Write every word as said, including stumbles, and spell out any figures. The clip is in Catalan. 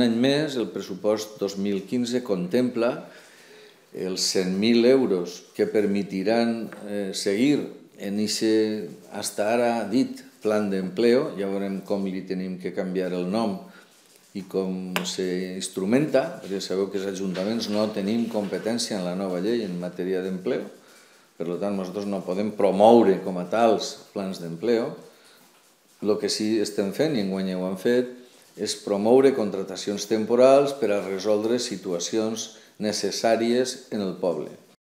un any més, el pressupost dos mil quinze contempla els cent mil euros que permetiran seguir en aquest, fins ara dit, plan d'empleo. Ja veurem com li tenim que canviar el nom i com s'instrumenta, perquè sabeu que els ajuntaments no tenim competència en la nova llei en matèria d'empleo, per tant nosaltres no podem promoure com a tals plans d'empleo. El que sí estem fent, i enguany ho hem fet, és promoure contratacions temporals per a resoldre situacions necessàries en el poble.